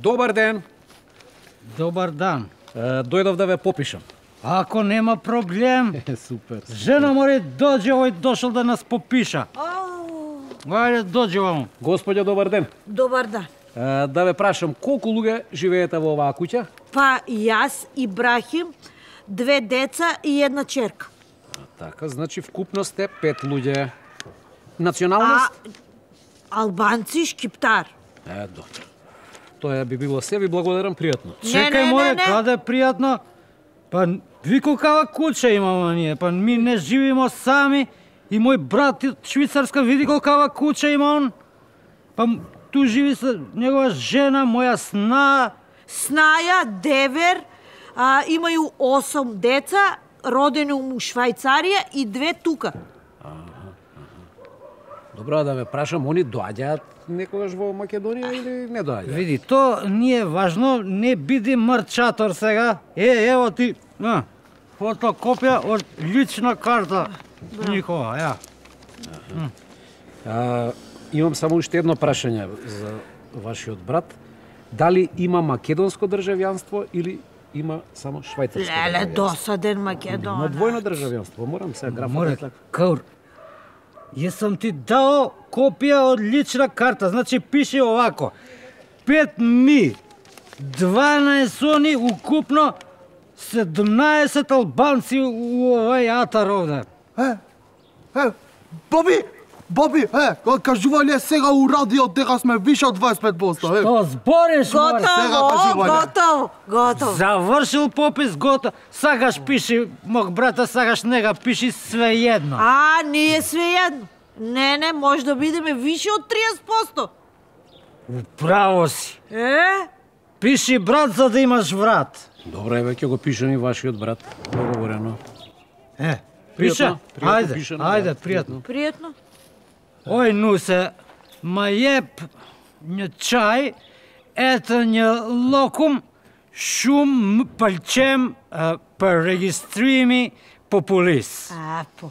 Добар ден. Добар дан. Дојдов да ве попишам. Ако нема проблем, Супер. жена мори доđe, овој дошол да нас попиша. Ајде, доđe вамо. Господја, добар ден. Добар дан. Да ве прашам, колку луѓе живеете во оваа куќа? Па јас, Ибрахим, 2 деца и 1 черка. Така, значи вкупно сте 5 луѓе. Националност? Албанци, шкиптар. Добро. Тоа би било се, ви благодарам, пријатно. Чекај, море, каде е пријатно? Па, ви колкава куќа имамо ние, па ми не живимо сами и мој брат од Швицарска види колкава куќа има он. Па, ту живи со негова жена, моја сна. Снаја, девер, имају 8 деца, родени у Швајцарија и 2 тука. Добро, да ве прашам, они доаѓаат некогаш во Македонија или не доаѓаат? Види, то не е важно, не биди марчатор сега. Ево ти, фотокопија од лична карта njihova, ја. Имам само уште едно прашање за вашиот брат. Дали има македонско државјанство или има само швајцарско државјанство? Леле, досаден Македон. Има двојно државјанство, морам сега графот. Море, Каур, јесам ти дао копија од лична карта, значи пише овако. 5 ми, 12 они, укупно 17 албанци у овај атар овде. Боби, кажувале сега у радио дека сме више од 25%. Што збориш, море? Готово. Завршил попис, готов. Сакаш пиши, мог брата, сакаш нега пиши свеедно. Ние свеедно. Не, може да бидеме више од 30%. Право си. Пиши брат за да имаш врат. Добро, еве ќе го пишем и вашиот брат. Договорено. Пише? Пријатно, Ајде, пријатно. Пријатно. Oj, Nuse, ma jep një qaj, etë një lokum shumë më pëlqem për regjistrimi populis. Po.